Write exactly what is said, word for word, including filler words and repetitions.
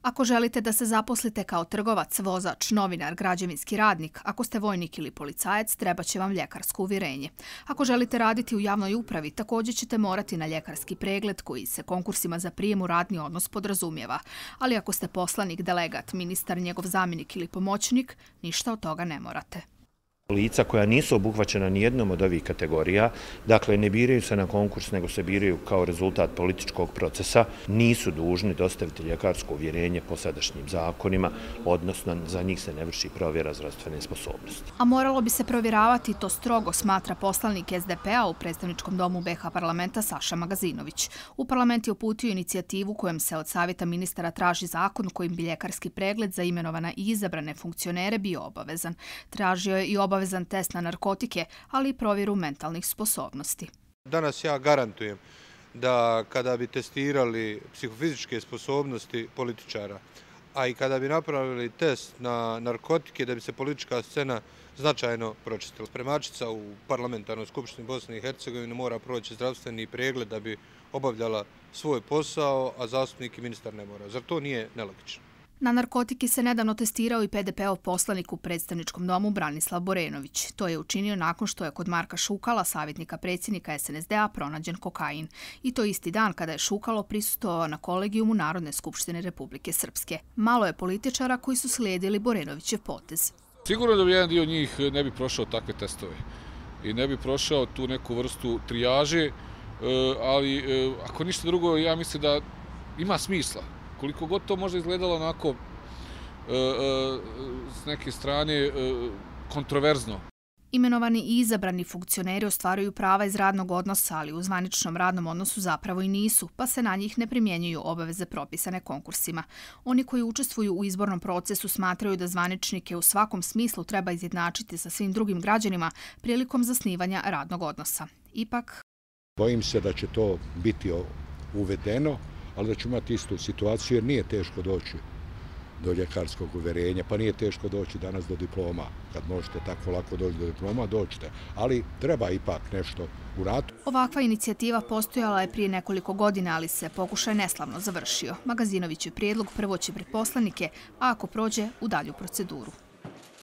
Ako želite da se zaposlite kao trgovac, vozač, novinar, građevinski radnik, ako ste vojnik ili policajac, treba će vam ljekarsko uvjerenje. Ako želite raditi u javnoj upravi, također ćete morati na ljekarski pregled koji se konkursima za prijem u radni odnos podrazumijeva. Ali ako ste poslanik, delegat, ministar, njegov zamjenik ili pomoćnik, ništa od toga ne morate. Lica koja nisu obuhvaćena nijednom od ovih kategorija, dakle ne biraju se na konkurs, nego se biraju kao rezultat političkog procesa, nisu dužni dostaviti ljekarsko uvjerenje po sadašnjim zakonima, odnosno za njih se ne vrši provjera zdravstvene sposobnosti. A moralo bi se provjeravati, to strogo smatra poslanik S D P-a u predstavničkom domu B iH parlamenta Saša Magazinović. U parlament je uputio inicijativu kojom se od savjeta ministara traži zakon kojim bi ljekarski pregled za imenovane i izabrane funkcionere bio obavezan. Tražio je i obavezan obavezan test na narkotike, ali i provjeru mentalnih sposobnosti. Danas ja garantujem da kada bi testirali psihofizičke sposobnosti političara, a i kada bi napravili test na narkotike, da bi se politička scena značajno pročistila. Spremačica u parlamentarnoj skupštini Bosne i Hercegovine mora proći zdravstveni pregled da bi obavljala svoj posao, a zastupnik i ministar ne mora. Zar to nije nelogično? Na narkotike se nedavno testirao i P D P-ov poslanik u predstavničkom domu Branislav Borenović. To je učinio nakon što je kod Marka Šukala, savjetnika predsjednika S N S D-a, pronađen kokain. I to isti dan kada je Šukalo prisustvovao na kolegijumu Narodne skupštine Republike Srpske. Malo je političara koji su slijedili Borenovićev potez. Sigurno da bi jedan dio njih ne bi prošao takve testove i ne bi prošao tu neku vrstu trijaže, ali ako ništa drugo, ja mislim da ima smisla. Koliko god to možda izgledalo onako e, e, s neke strane e, kontroverzno. Imenovani i izabrani funkcioneri ostvaruju prava iz radnog odnosa, ali u zvaničnom radnom odnosu zapravo i nisu, pa se na njih ne primjenjuju obaveze propisane konkursima. Oni koji učestvuju u izbornom procesu smatraju da zvaničnike u svakom smislu treba izjednačiti sa svim drugim građanima prilikom zasnivanja radnog odnosa. Ipak, bojim se da će to biti uvedeno, ali da ću imati istu situaciju jer nije teško doći do ljekarskog uvjerenja, pa nije teško doći danas do diploma. Kad možete tako lako doći do diploma, dođite. Ali treba ipak nešto uraditi. Ovakva inicijativa postojala je prije nekoliko godina, ali se pokušaj neslavno završio. Magazinovićev prijedlog prvo će pred poslanike, a ako prođe, u dalju proceduru.